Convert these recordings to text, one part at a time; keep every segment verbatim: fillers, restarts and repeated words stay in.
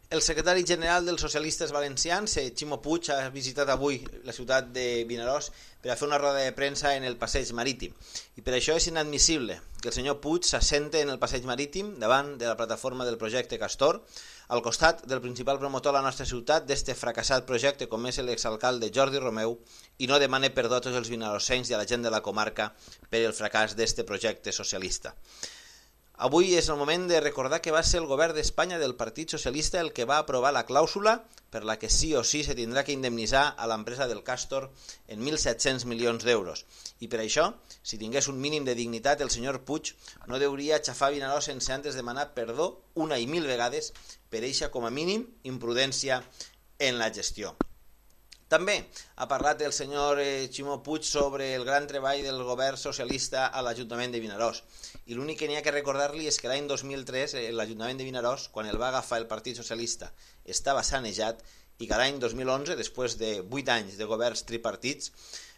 El secretari general dels socialistes valencians, Ximo Puig, ha visitat avui la ciutat de Vinaròs per a fer una roda de premsa en el passeig marítim. I per això és inadmissible que el senyor Puig s'assente en el passeig marítim davant de la plataforma del projecte Castor, al costat del principal promotor a la nostra ciutat d'este fracassat projecte com és l'exalcalde Jordi Romeu, i no demane perdó a tots els vinarossencs i a la gent de la comarca per el fracàs d'este projecte socialista. Avui és el moment de recordar que va ser el govern d'Espanya del Partit Socialista el que va aprovar la clàusula per la que sí o sí se tindrà que indemnitzar a l'empresa del Castor en mil set-cents milions d'euros. I per això, si tingués un mínim de dignitat, el senyor Puig no deuria xafar Vinaròs sense antes demanar perdó una i mil vegades per eixa, com a mínim, imprudència en la gestió. També ha parlat el senyor Ximo Puig sobre el gran treball del govern socialista a l'Ajuntament de Vinaròs. I l'únic que n'hi ha que recordar-li és que l'any dos mil tres l'Ajuntament de Vinaròs, quan el va agafar el Partit Socialista, estava sanejat i que l'any dos mil onze, després de vuit anys de governs tripartits,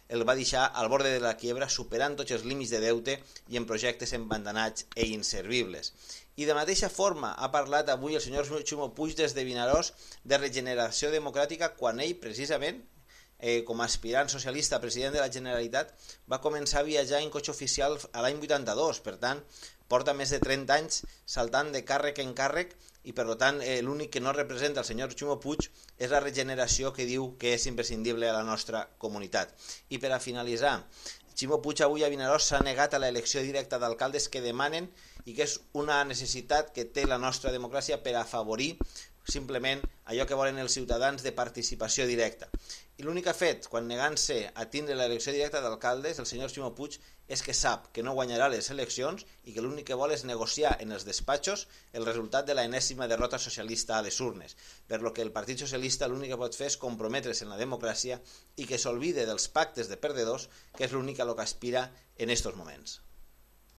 el va deixar al borde de la quiebra, superant tots els límits de deute i en projectes embandanats i inservibles. I de mateixa forma ha parlat avui el senyor Ximo Puig des de Vinaròs de regeneració democràtica quan ell, precisament, eh, com a aspirant socialista a president de la Generalitat, va començar a viatjar en cotxe oficial a l'any vuitanta-dos. Per tant, porta més de trenta anys saltant de càrrec en càrrec i, per tant, eh, l'únic que no representa el senyor Ximo Puig és la regeneració que diu que és imprescindible a la nostra comunitat. I per a finalitzar, Ximo Puig avui a Vinaròs s'ha negat a l'elecció directa d'alcaldes que demanen i que és una necessitat que té la nostra democràcia per afavorir simplement allò que volen els ciutadans de participació directa. I l'únic que ha fet, quan negant-se a tindre l'elecció directa d'alcaldes, el senyor Ximo Puig, és que sap que no guanyarà les eleccions i que l'únic que vol és negociar en els despatxos el resultat de l'enèsima derrota socialista a les urnes, per lo que el Partit Socialista l'únic que pot fer és comprometre's en la democràcia i que s'olvide dels pactes de perdedors, que és l'únic a lo que aspira en estos moments.